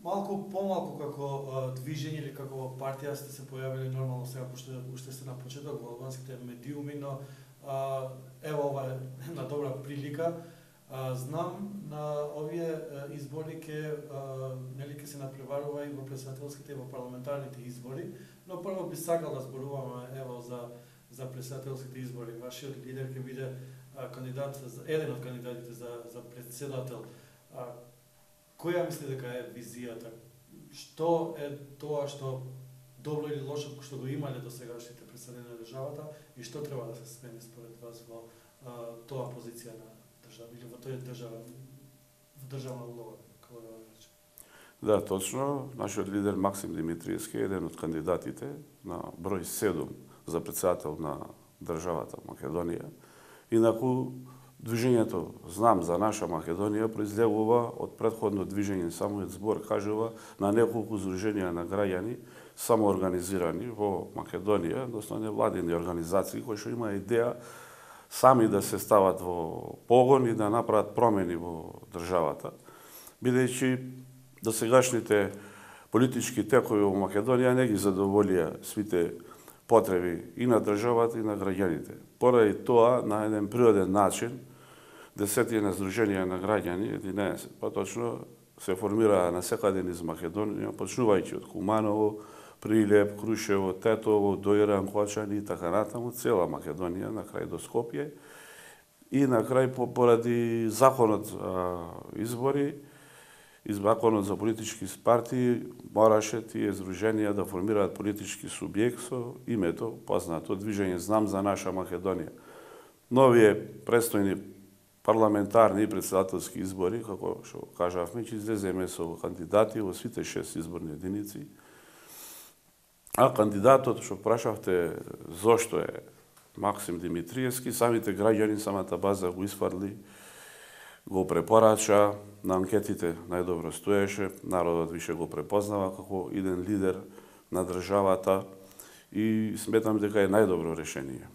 Малку помалку како движење или како партија сте се појавили нормално сега, пошто уште сте на почеток во албанските медиуми, но ево ова е една добра прилика. Знам на овие избори ќе се надпреварува и во претседателските и во парламентарните избори, но прво би сакал да зборуваме ево за претседателските избори. Вашиот лидер ќе биде кандидат, еден од кандидатите за претседател. Која мисли дека е визијата? Што е тоа што добро или лошо што го имале до сегашните представници на државата и што треба да се смени според вас во тоа позиција на држава или во тој државна улога, како да речем? Да, точно. Нашиот лидер Максим Димитриевски е еден од кандидатите на број 7 за претседател на државата Македонија. Инаку движењето Знам за наша Македонија произлегува од претходно движење, самиот збор кажува на неколку здруженија на граѓани самоорганизирани во Македонија, односно невладини организации кои што има идеја сами да се стават во погон и да направат промени во државата, бидејќи досегашните политички текови во Македонија не ги задоволија сите потреби и на државата и на граѓаните. Поради тоа, на еден природен начин, десетина здруженија на граѓани, 11 поточно, се формираа насекаде низ Македонија, почнувајќи од Куманово, Прилеп, Крушево, Тетово, Доиран, Кочани и така натаму, цела Македонија, на крај до Скопје. И на крај, поради законот избори, и законот за политички партии, мораше тие здруженија да формираат политички субјект со името познато движење Знам за наша Македонија. Новие престојни парламентарни и претседателски избори, како што кажавме, ќе излеземе со кандидати во сите 6 изборни единици. А кандидатот, што прашавте зошто е Максим Димитриевски, самите граѓани, самата база го испарли, го препорача, на анкетите најдобро стоеше, народот више го препознава како иден лидер на државата и сметам дека е најдобро решение.